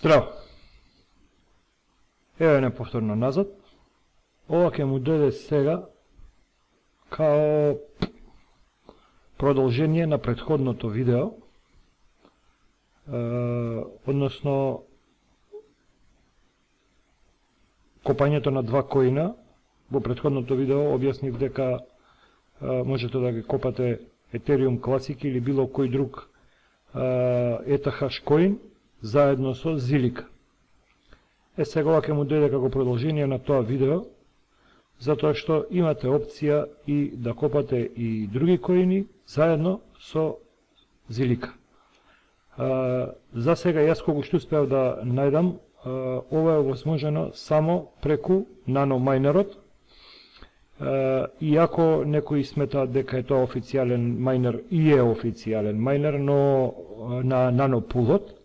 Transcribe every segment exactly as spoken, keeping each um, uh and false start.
Здраво! Еве не повторно назад. Ова ќе му дојде сега као продолжение на претходното видео, е, односно копањето на два коина. Во претходното видео објаснив дека е, можете да ги копате Ethereum Classic или било кој друг е, Ethahash коин заедно со Zilliqa. Е, сега ова ќе му дојде како продолжение на тоа видео, затоа што имате опција и да копате и други коини заедно со Zilliqa. За сега јас кога што успеав да најдам, ова е возможено само преку NanoMinerот. Иако некои сметаат дека е тоа официјален майнер, и е официјален майнер, но на NanoPool-от,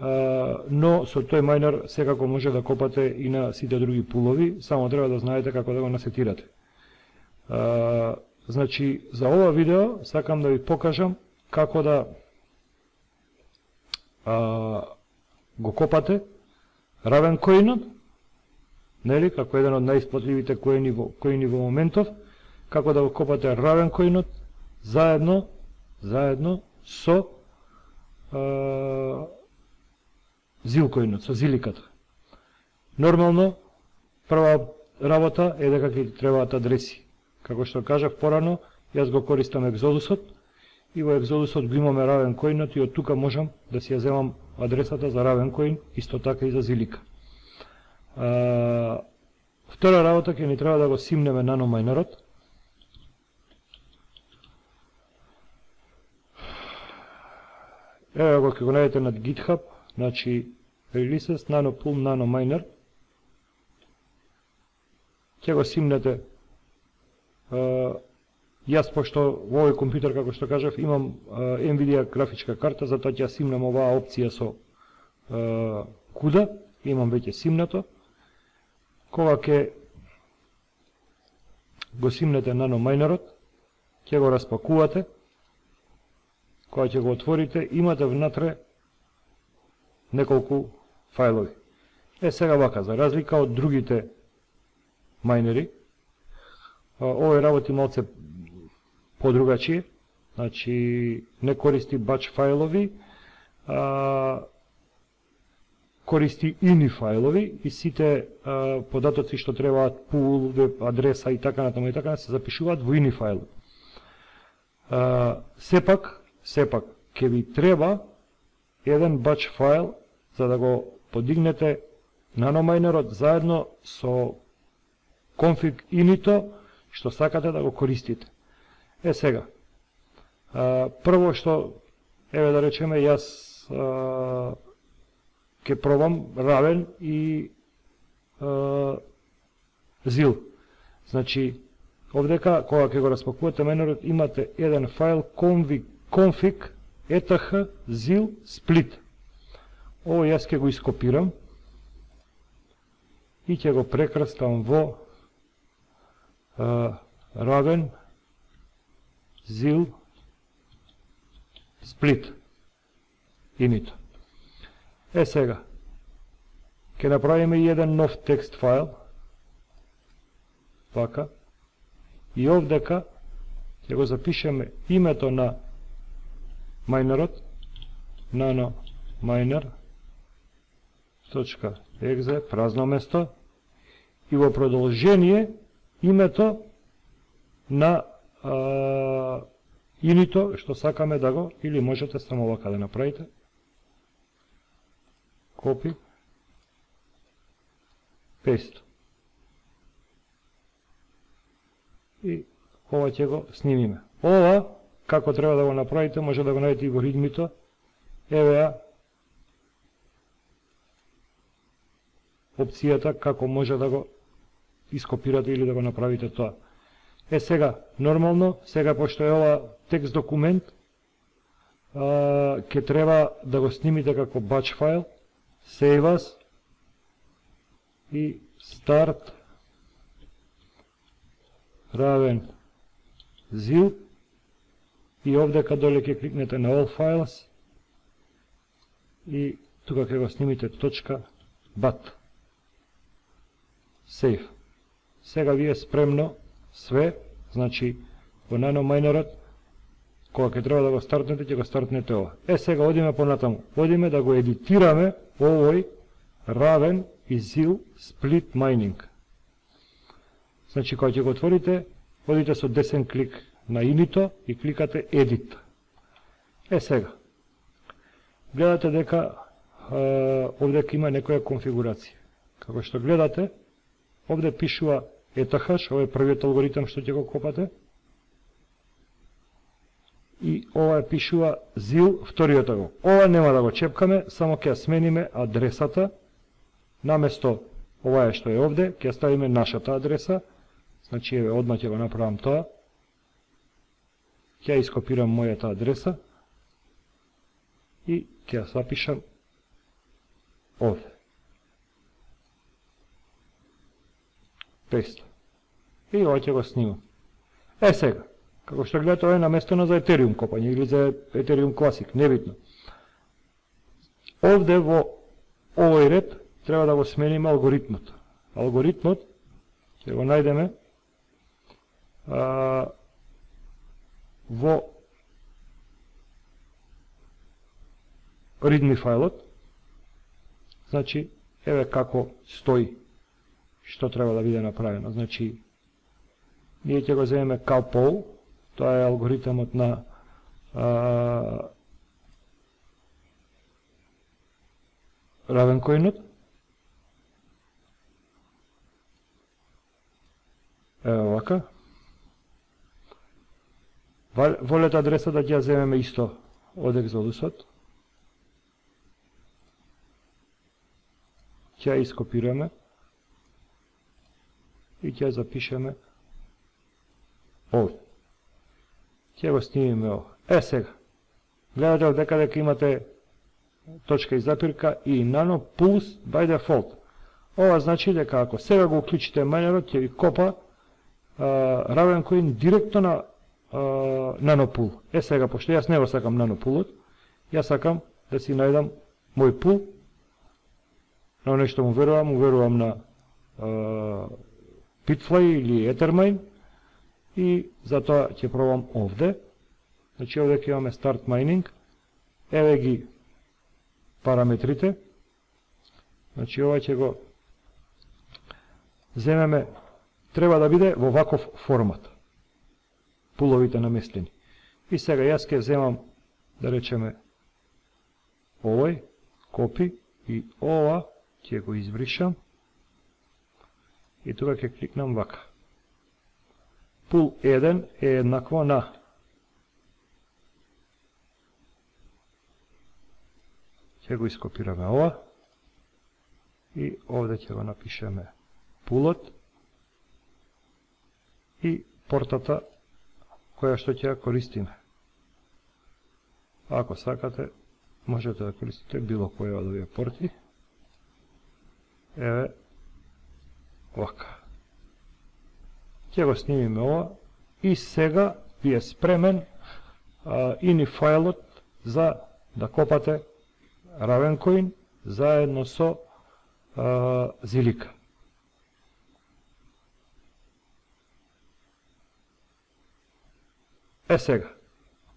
но со тој майнер секако може да копате и на сите други пулови, само треба да знаете како да го насетирате. Значи, за ова видео сакам да ви покажам како да а, го копате Ravencoin-от, нели, како еден од најисплатливите коини во, коини во моментов, како да го копате Ravencoin-от заедно, заедно со а, Zilcoin-от, со Zilliqa-та. Нормално, прва работа е дека ќе требаат адреси. Како што кажав порано, јас го користам Exodus-от и во Exodus-от го имаме Ravencoin-от и од тука можам да си ја земам адресата за Ravencoin, исто така и за Zilliqa. А, втора работа ќе ни треба да го симнеме NanoMinerот. Еве го ќе го најдете на GitHub, значи Releases, NanoPool, NanoMiner. Ќе го симнете. Uh, јас, пошто во овој компјутер, како што кажав, имам uh, NVIDIA графичка карта, затоа ќе симнам оваа опција со uh, куда, имам веќе симнато. Кога ќе го симнете NanoMinerот, ќе го распакувате, кога ќе го отворите, имате внатре неколку фајлови. Е, сега вака, за разлика од другите майнери, овој работи малце подругачие, значи не користи бач фајлови, а користи ini фајлови и сите а, податоци што требаат, пул, веб адреса и така натаму и така се запишуваат во ini фајл. А, сепак, сепак ќе ви треба еден бач фајл за да го подигнете NanoMinerот заедно со config ini-то што сакате да го користите. Е, сега, а, прво што, еве да речеме, јас а, ке пробам Raven и а, Zil. Значи, овдека, кога ќе го распакувате майнерот, имате еден фајл config, config eth zil split. Ово јас ќе го ископирам и ќе го прекрстам во uh, Raven Zil Split init. Е, сега ќе направиме еден нов текст файл, вака, и овдека ќе го запишеме името на майнерот, nanominer.exe, празно место, и во продолжение името на а, инито што сакаме да го, или можете само вака да направите. Копи, пест. И ова ќе го снимиме. Ова, како треба да го направите, може да го најдете и во ридмито. Еве ја опцијата како може да го ископирате или да го направите тоа. Е, сега, нормално, сега пошто е ова текст документ, а, ке треба да го снимите како batch файл, save as и start Raven Zil и овдека доле ќе кликнете на all files и тука ќе го снимите точка bat. Save. Сега ви е спремно све, значи во NanoMinerот, кога ќе треба да го стартнете, ќе го стартнете ова. Е, сега одиме понатаму. Одиме да го едитираме овој Raven и Zil Split Mining. Значи, кога ќе го отворите, одите со десен клик на inito и кликате Edit. Е, сега. Гледате дека овде има некоја конфигурација. Како што гледате, овде пишува Ethash, ова е првиот алгоритам што ќе го копате. И ова пишува Zil, вториот го. Ова нема да го чепкаме, само ќе смениме адресата. Наместо ова е што е овде, ќе ставиме нашата адреса. Значи, еве, одма ќе го направам тоа. Ќе ископирам мојата адреса и ќе ја запишам овде. Пест. И ова ќе го снимам. Е, сега, како што гледате, ова е наместено за Ethereum копање или за Ethereum Classic, небитно. Овде во овој ред треба да го смениме алгоритмот. Алгоритмот ќе го најдеме а, во readme фајлот. Значи, еве како стои што треба да биде направено. Значи, ние ќе го земеме CowPoll, тоа е алгоритмот на а, Ravencoinот. Ево вака. Волете адреса да ќе ја земеме исто од Exodusот. Ќе ја ископираме и ќе ја запишеме овде. Ќе го снимиме ова. Е, сега. Гледате овде каде дека имате точка и запирка и Nano Pulse by default. Ова значи дека ако сега го уклучите майнерот, ќе ви копа uh, Ravencoin директно на uh, NanoPool. Е, сега, пошто јас не го сакам NanoPoolот, јас сакам да си најдам мој пул, на нешто му верувам, му верувам на uh, Bitfly или Ethermine и затоа ќе пробам овде. Значи овде ќе имаме Start Mining. Еве ги параметрите. Значи ова ќе го земеме, треба да биде во ваков формат. Пуловите наместени. И сега јас ќе земам, да речеме, овој, копи, и ова ќе го избришам. И тука ќе кликнам вака. Пул еден е еднакво на ќе го ископираме ова и овде ќе го напишеме пулот и портата која што ќе ја користиме. Ако сакате, можете да користите било која од овие порти. Еве вака. Ќе го снимиме ова и сега ви е спремен а, ini фајлот за да копате Ravencoin заедно со а, Zilliqa. Е сега,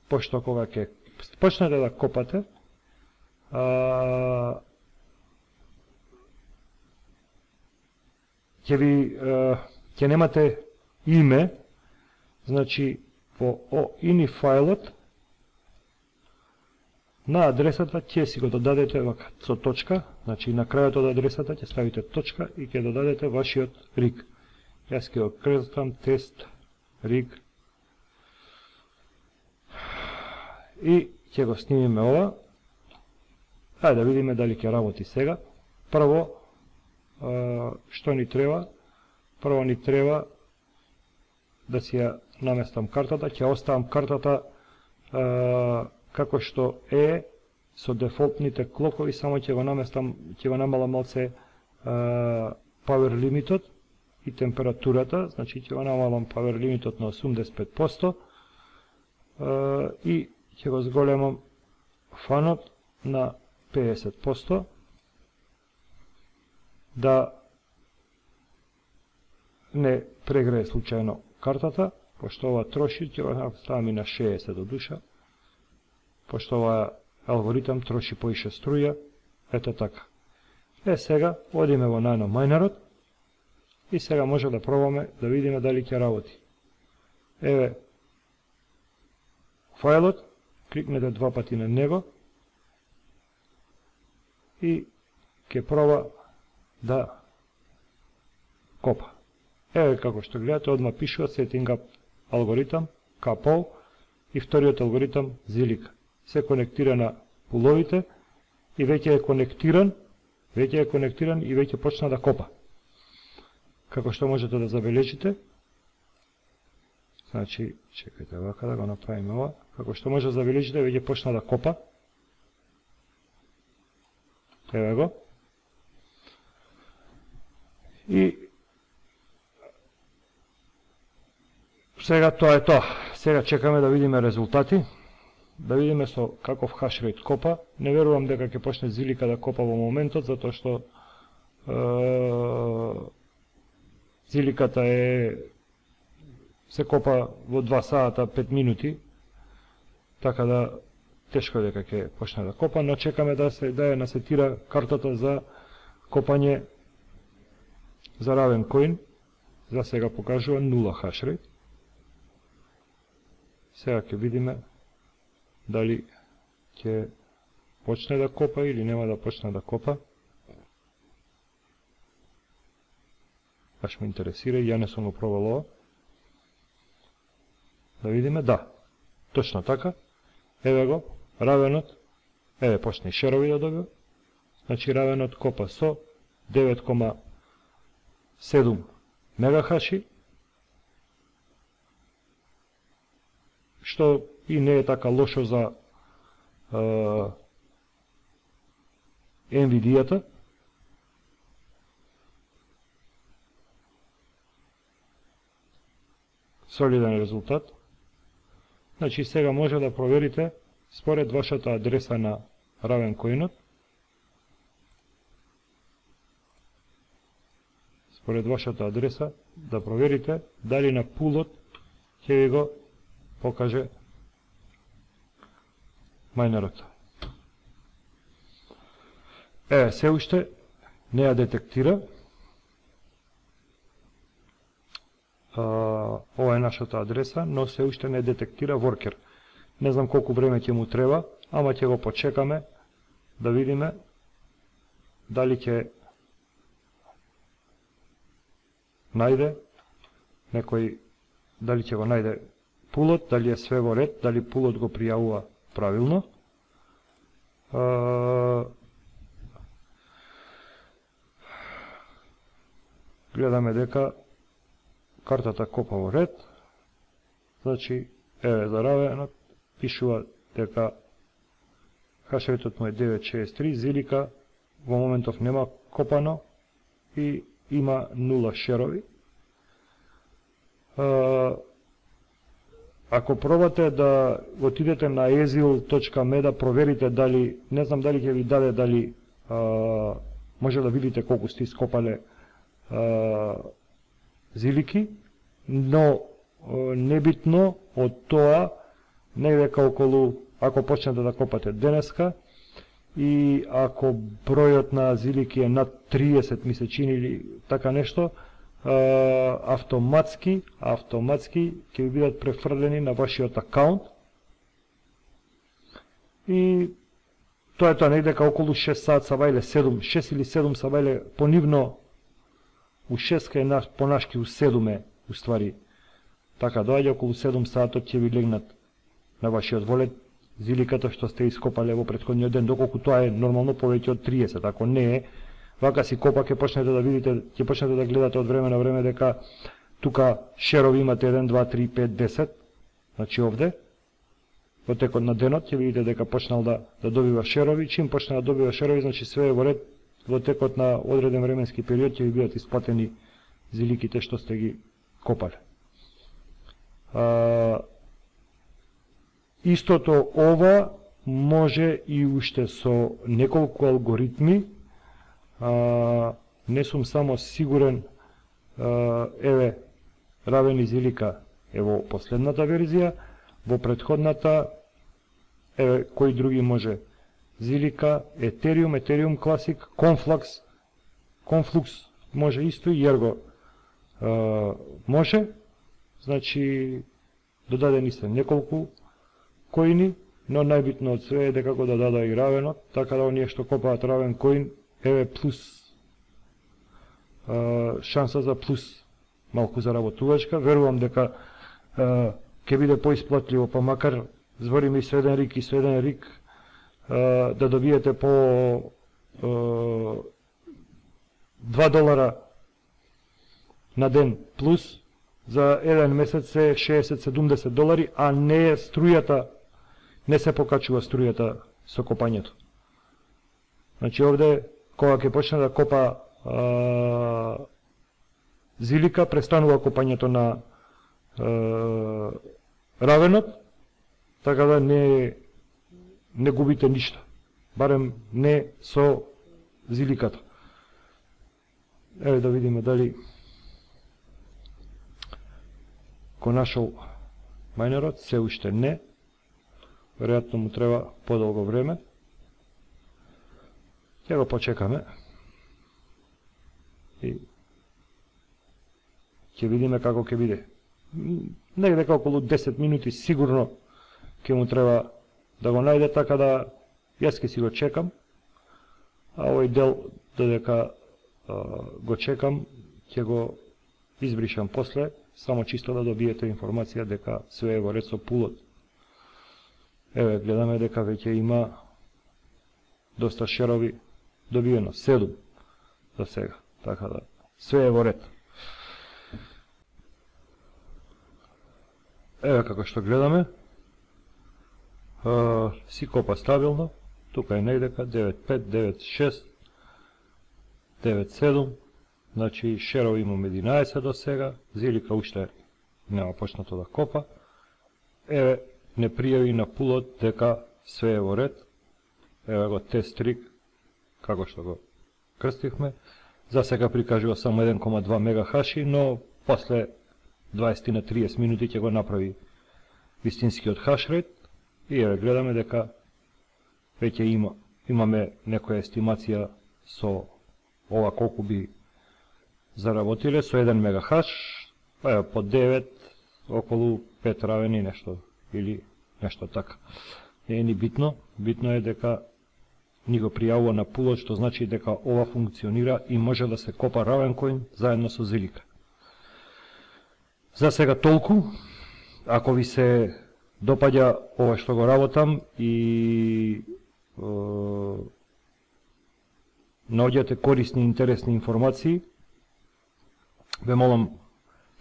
пошто кога ќе почнете да копате, а, ќе ви ќе немате име, значи во ini фајлот на адресата ќе си го додадете вака со точка, значи на крајот од адресата ќе ставите точка и ќе додадете вашиот риг. Јас ќе го крстам тест риг и ќе го снимиме ова. Ајде да видиме дали ќе работи сега. Прво, што ни треба? Прво ни треба да си ја наместам картата, ќе оставам картата а, како што е со дефолтните клокови, само ќе го наместам, ќе го намалам малце а, power лимитот и температурата, значи ќе го намалам power лимитот на осумдесет и пет проценти а, и ќе го зголемам фанот на педесет проценти, да не прегрее случајно картата, пошто ова троши, ќе го ставам и на шеесет до душа, пошто ова алгоритам троши поише струја, ето така. Е, сега, одиме во најнов мајнерот, и сега може да пробаме да видиме дали ќе работи. Еве, фајлот, кликнете два пати на него, и ќе проба да копа. Еве како што гледате, одма пишува setting up алгоритам, капол, и вториот алгоритам зилика. Се конектира на пуловите и веќе е конектиран, веќе е конектиран и веќе почна да копа. Како што можете да забележите, значи, чекајте вака да го направиме ова, како што може да забележите, веќе почна да копа. Еве го. И сега тоа е тоа. Сега чекаме да видиме резултати, да видиме со каков хашрейт копа. Не верувам дека ќе почне зилика да копа во моментот, затоа што е, зиликата е се копа во два сата пет минути, така да тешко дека ќе почне да копа, но чекаме да се да ја насетира картата за копање за Ravencoin. За сега покажува нула хашрейт. Сега ќе видиме дали ќе почне да копа или нема да почне да копа. Баш ме интересира, ја не сум го пробал ова. Да видиме, да, точно така. Еве го, Равенот, еве почне и шерови да добива. Значи Равенот копа со девет кома седум мегахаши, што и не е така лошо за е, Nvidia-та. Солиден резултат. Значи сега може да проверите според вашата адреса на Ravencoin-от. Според вашата адреса да проверите дали на пулот ќе ви го покаже мајнерот. Е, се уште не ја детектира. А, ова е нашата адреса, но се уште не детектира воркер. Не знам колку време ќе му треба, ама ќе го почекаме да видиме дали ќе најде некој, дали ќе го најде пулот, дали е све во ред, дали пулот го пријавува правилно. А, гледаме дека картата копа во ред. Значи, еве за Равенот пишува дека хашрейтот му е девет шеесет три, зилика во моментов нема копано и има нула шерови. А, ако пробате да отидете на ezil точка me да проверите дали, не знам дали ќе ви даде, дали а, може да видите колку сте ископале а, зилики, но а, небитно од тоа, негде околу, ако почнете да копате денеска, и ако бројот на зилики е над триесет месечини или така нешто, автоматски, автоматски ќе ви бидат префрлени на вашиот акаунт. И тоа е тоа, негде околу шест сат сабајле, седум, шест или седум сабајле, понивно у шест е наш, понашки у седум е, уствари, така доаѓа околу седум сатот ќе ви легнат на вашиот волет зиликата што сте ископале во претходниот ден, доколку тоа е нормално повеќе од триесет, ако не е, вака си копа, ќе почнете да видите, ќе почнете да гледате од време на време дека тука шерови имате еден, два, три, пет, десет, значи овде, во текот на денот ќе видите дека почнал да, да добива шерови, чим почне да добива шерови, значи све е во ред, во текот на одреден временски период ќе ви бидат исплатени зиликите што сте ги копале. А, истото ова може и уште со неколку алгоритми, а, не сум само сигурен, а, еве, равен изилика е во последната верзија, во претходната, еве, кои други може, Зилика, Ethereum, Ethereum Classic, Conflux, Conflux може исто и Ergo а, може, значи додадени се неколку коини, но најбитно од све е дека го додада и равенот, така да оние што копаат равен коин, еве плюс, а, шанса за плюс малку заработувачка. Верувам дека а, ќе биде поисплатливо, па макар збориме и со еден рик и со еден рик, а, да добиете по а, два долара на ден плюс, за еден месец е шеесет до седумдесет долари, а не е струјата, не се покачува струјата со копањето. Значи овде, кога ќе почне да копа а, Зилика, престанува копањето на а, равенот, така да не, не губите ништо, барем не со Зиликата. Еве да видиме дали го нашол мајнерот, се уште не, веројатно му треба подолго време. Ќе го почекаме и ќе видиме како ќе биде. Негде околу десет минути сигурно ќе му треба да го најде, така да јас ќе си го чекам, а овој дел додека а, го чекам, ќе го избришам после, само чисто да добиете информација дека све е во ред со пулот. Еве, гледаме дека веќе има доста шерови добиено, седум за сега, така да све е во ред. Еве како што гледаме, а, си копа стабилно, тука е негдека девет пет, девет шест, девет седум, значи шерови имаме единаесет до сега, Зилика уште нема почнато да копа. Еве, не пријави на пулот дека све е во ред. Еве го тест трик, како што го крстивме. За сега прикажува само еден кома два мегахаши, но после дваесет на триесет минути ќе го направи вистинскиот хашрейт. И еве гледаме дека веќе има, имаме некоја естимација со ова колку би заработиле со еден мегахаш, па по девет, околу пет равени нешто, или нешто така. Не е ни битно, битно е дека ни го пријавува на пулот, што значи дека ова функционира и може да се копа равен коин заедно со Зилика. За сега толку. Ако ви се допаѓа ова што го работам и е, наоѓате корисни и интересни информации, ве молам,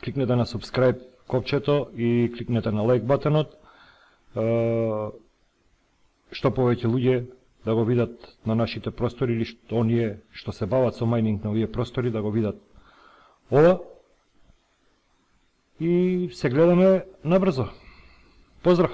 кликнете на subscribe копчето и кликнете на лайк батонот, што повеќе луѓе да го видат на нашите простори, или што оние што се бават со мајнинг на овие простори да го видат ова. И се гледаме набрзо. Поздрав!